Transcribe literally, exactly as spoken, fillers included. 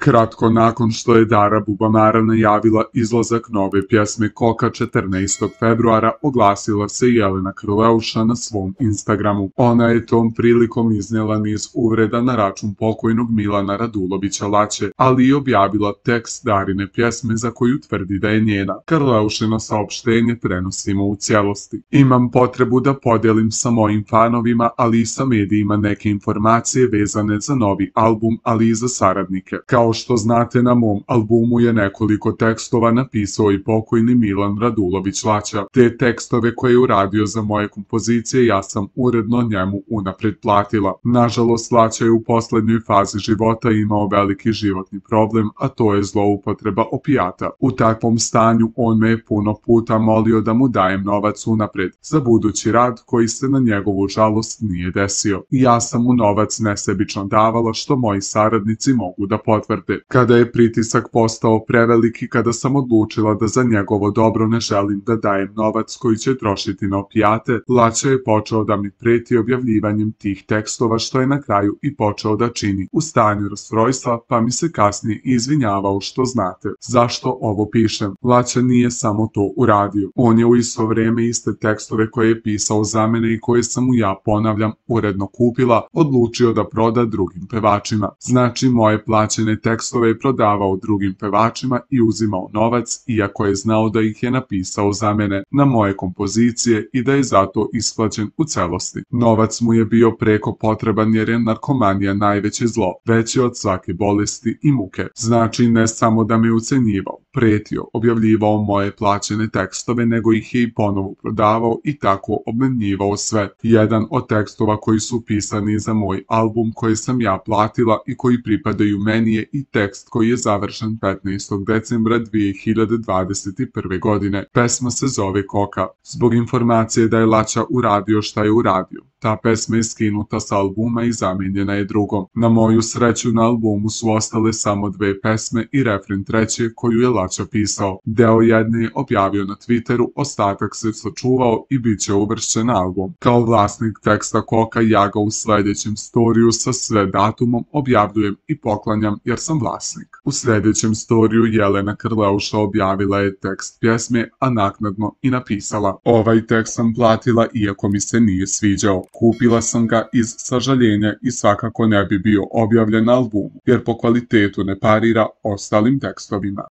Kratko nakon što je Dara Bubamara najavila izlazak nove pjesme Koka četrnaestog februara, oglasila se Jelena Krleuša na svom Instagramu. Ona je tom prilikom iznijela niz uvreda na račun pokojnog Milana Radulovića Laće, ali i objavila tekst Darine pjesme za koju tvrdi da je njena. Krleušino saopštenje prenosimo u cijelosti. Imam potrebu da podijelim sa mojim fanovima, ali i sa medijima neke informacije vezane za novi album, ali i za saradnike. Kao što znate, na mom albumu je nekoliko tekstova napisao i pokojni Milan Radulović Laća. Te tekstove koje je uradio za moje kompozicije ja sam uredno njemu unapred platila. Nažalost, Laća je u poslednjoj fazi života imao veliki životni problem, a to je zloupotreba opijata. U takvom stanju on me je puno puta molio da mu dajem novac unapred za budući rad koji se na njegovu žalost nije desio. I ja sam mu novac nesebično davala, što moji saradnici mogu da potvrde. Kada je pritisak postao preveliki, kada sam odlučila da za njegovo dobro ne želim da dajem novac koji će trošiti na opijate, Laća je počeo da mi preti objavljivanjem tih tekstova, što je na kraju i počeo da čini u stanju rastrojstva, pa mi se kasnije izvinjavao. Što znate zašto ovo pišem. Laća nije samo to uradio. On je u isto vrijeme iste tekstove koje je pisao za mene i koje sam mu ja, ponavljam, uredno kupila, odlučio da proda drugim pevačima. Znači, moje plaćene tekstove je prodavao drugim pevačima i uzimao novac, iako je znao da ih je napisao za mene na moje kompozicije i da je zato isplaćen u celosti. Novac mu je bio preko potreban jer je narkomanija najveće zlo, veće od svake bolesti i muke. Znači, ne samo da me ucenjivao, pretio, objavljivao moje plaćene tekstove, nego ih je i ponovo prodavao i tako obmanjivao sve. Jedan od tekstova koji su pisani za moj album koji sam ja platila i koji pripadaju meni je i tekst koji je završen petnaestog decembra dvije hiljade dvadeset prve. godine. Pesma se zove Koka. Zbog informacije da je Laća uradio šta je uradio, ta pesma je skinuta sa albuma i zamijenjena je drugom. Na moju sreću, na albumu su ostale samo dve pesme i refren treće koju je Laća pisao. Deo jedne je objavio na Twitteru, ostatak se sačuvao i bit će uvršćen na album. Kao vlasnik teksta Koka ja ga u sljedećem storiju sa sve datumom objavljujem i poklanjam jer sam vlasnik. U sljedećem storiju Jelena Krleuša objavila je tekst pjesme, a naknadno i napisala: ovaj tekst sam platila iako mi se nije sviđao. Kupila sam ga iz sažaljenja i svakako ne bi bio objavljen na albumu, jer po kvalitetu ne parira ostalim tekstovima.